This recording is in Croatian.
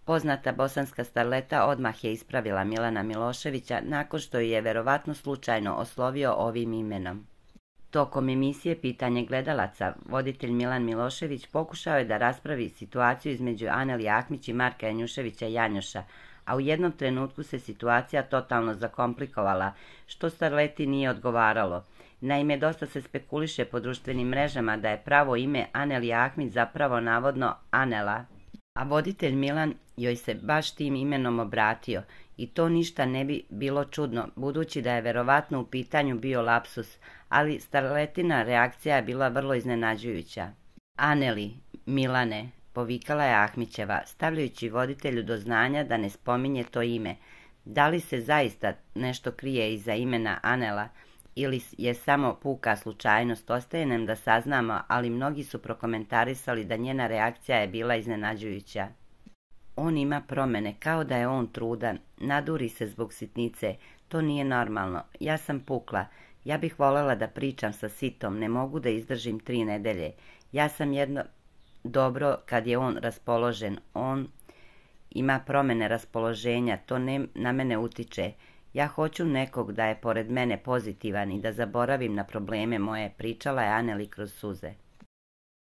Poznata bosanska starleta odmah je ispravila Milana Miloševića nakon što ju je verovatno slučajno oslovio ovim imenom. Tokom emisije Pitanje gledalaca, voditelj Milan Milošević pokušao je da raspravi situaciju između Aneli Ahmić i Marka Janjuševića Janjoša, a u jednom trenutku se situacija totalno zakomplikovala, što starleti nije odgovaralo. Naime, dosta se spekuliše po društvenim mrežama da je pravo ime Aneli Ahmić zapravo navodno Anela, a voditelj Milan joj se baš tim imenom obratio i to ništa ne bi bilo čudno, budući da je verovatno u pitanju bio lapsus, ali starletina reakcija je bila vrlo iznenađujuća. Aneli, Milane, povikala je Ahmićeva, stavljajući voditelju do znanja da ne spominje to ime. Da li se zaista nešto krije iza imena Anela ili je samo puka slučajnost, ostaje nam da saznamo, ali mnogi su prokomentarisali da njena reakcija je bila iznenađujuća. On ima promene, kao da je on trudan, naduri se zbog sitnice, to nije normalno, ja sam pukla, ja bih voljela da pričam sa sitom, ne mogu da izdržim 3 nedelje, ja sam jedno dobro kad je on raspoložen, on ima promene raspoloženja, to ne na mene utiče, ja hoću nekog da je pored mene pozitivan i da zaboravim na probleme moje, pričala je Aneli kroz suze.